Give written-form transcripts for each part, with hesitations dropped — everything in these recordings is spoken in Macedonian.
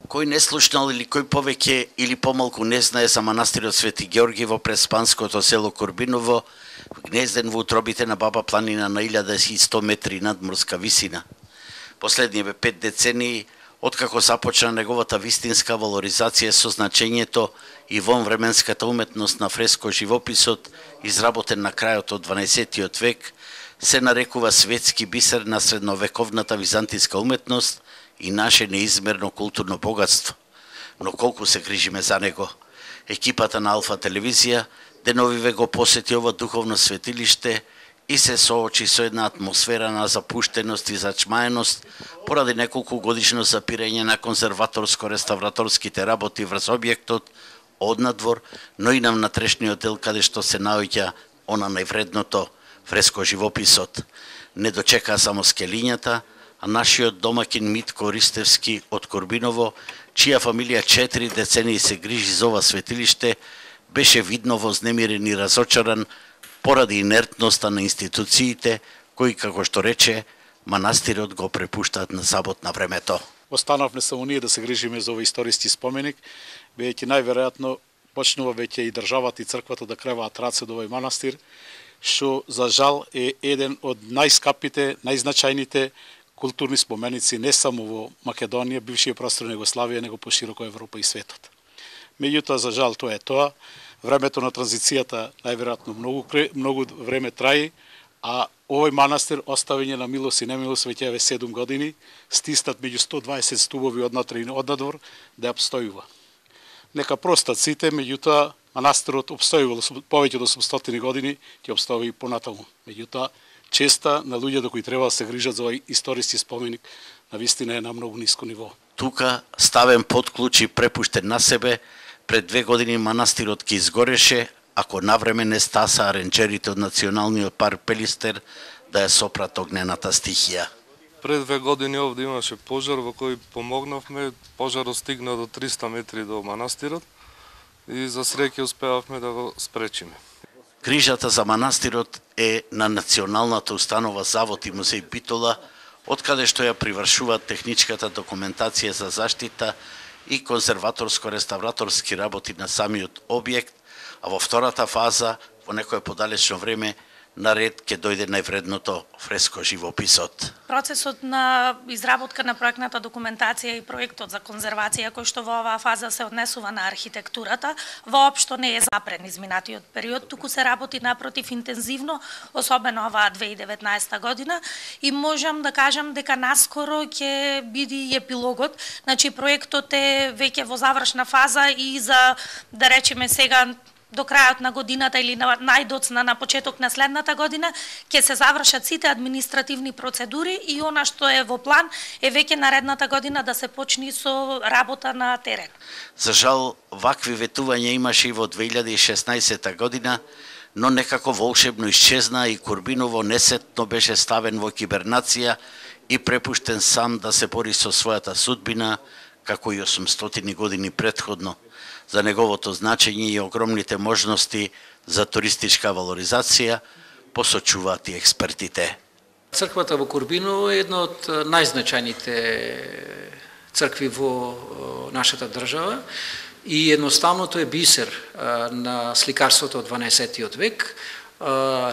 Кој не слушнал или кој повеќе или помалку не знае за манастирот Свети Ѓорги во преспанското село Корбиново, гнезден во утробите на Баба планина на 1100 метри над морска висина. Последниве 5 децении, откако започна неговата вистинска валоризација со значењето и вонвременската уметност на фреско живописот, изработен на крајот од 12 век, се нарекува светски бисер на средновековната византиска уметност и наше неизмерно културно богатство. Но колку се грижиме за него. Екипата на Алфа телевизија деновиве го посети ова духовно светилиште и се соочи со една атмосфера на запуштеност и зачмаеност поради неколку годишно запирање на конзерваторско-реставраторските работи врз објектот однадвор, но и на внатрешниот дел каде што се наоѓа она највредното фреско живописот. Не дочекаа само скелињата, а нашиот домакин Митко Ристевски од Корбиново, чија фамилија 4 децении се грижи за ова светилиште, беше видно вознемирен и разочаран поради инертноста на институциите, кои, како што рече, манастирот го препуштаат на забот на времето. Останавме само ние да се грижиме за овој историски споменик, веќе најверојатно почнува веќе и државата и црквата да креваат раце до овој манастир, што за жал е еден од најскапите, најзначајните културни споменици не само во Македонија, бившиот простор на Југославија, него пошироко Европа и светот. Меѓутоа, за жал, тоа е тоа. Времето на транзицијата најверојатно многу време траи, а овој манастир оставење на милост и немилост веќе 7 години, стиснат меѓу 120 стубови однатре и однадвор да ја обстојува. Нека простат сите, меѓутоа манастирот обстојувал повеќе од 800 години, ќе обстои и понатаму. Меѓутоа, честа на луѓето кои треба да се грижат за овој историски споменик, навистина е на многу ниско ниво. Тука, ставен под клуч и препуштен на себе, пред 2 години манастирот ќе изгореше, ако навреме не стаса ренџерите од Националниот парк Пелистер да ја сопрат огнената стихија. Пред 2 години овде имаше пожар во кој помогнавме, пожарот стигна до 300 метри до манастирот и за среќа успеавме да го спречиме. Грижата за манастирот е на Националната установа Завод и музеј Битола, откаде што ја привршуваат техничката документација за заштита и конзерваторско-реставраторски работи на самиот објект, а во втората фаза, во некое подалечно време, на ред ќе дојде највредното фреско живописот. Процесот на изработка на проектната документација и проектот за конзервација кој што во оваа фаза се однесува на архитектурата, воопшто не е запрен изминатиот период, туку се работи напротив интензивно, особено оваа 2019 година, и можам да кажам дека наскоро ќе биде и епилогот, значи проектот е веќе во завршна фаза и за, да речеме сега, до крајот на годината или најдоцна на почеток на следната година ќе се завршат сите административни процедури и она што е во план е веќе наредната година да се почне со работа на терен. За жал, вакви ветувања имаше и во 2016 година, но некако волшебно исчезна и Корбиново несетно беше ставен во кибернација и препуштен сам да се бори со својата судбина, како и 800 години претходно. За неговото значење и огромните можности за туристичка валоризација, посочуваат и експертите. Црквата во Корбиново е една од најзначајните цркви во нашата држава и едноставно тој е бисер на сликарството од 12 век,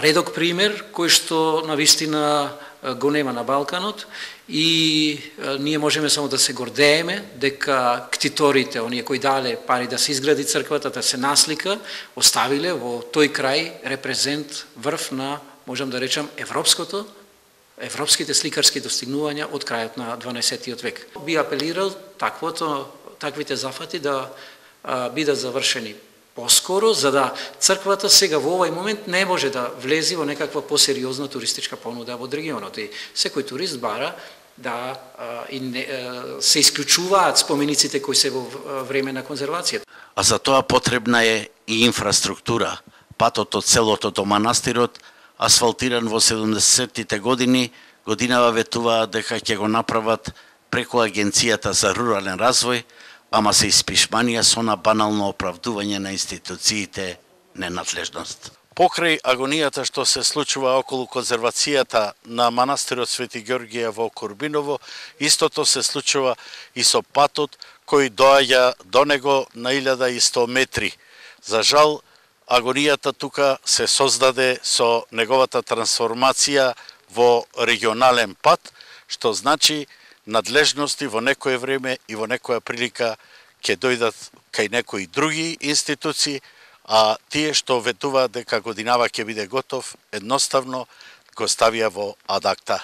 редок пример кој што навистина го нема на Балканот и ние можеме само да се гордееме дека ктиторите, оние кои дале пари да се изгради црквата, да се наслика, оставиле во тој крај репрезент врв на, можам да речам, европските сликарски достигнувања од крајот на 12 век. Би апелирал таквите зафати да бидат завршени поскоро, за да црквата сега во овој момент не може да влези во некаква посериозна туристичка понуда од регионот. И секој турист бара да се исклучуваат спомениците кои се во време на конзервацијата. А за тоа потребна е и инфраструктура. Патот од селото до манастирот, асфалтиран во 70-тите години, годинава ветуваат дека ќе го направат преку Агенцијата за рурален развој, ама се испишманија со на банално оправдување на институциите ненадлежност. Покрај агонијата што се случува околу конзервацијата на манастирот Свети Ѓоргија во Корбиново, истото се случува и со патот кој доаѓа до него на 1100 метри. За жал, агонијата тука се создаде со неговата трансформација во регионален пат, што значи надлежности во некое време и во некоја прилика ќе дојдат кај некои други институции, а тие што ветуваат дека годинава ќе биде готов, едноставно го ставија во ад акта.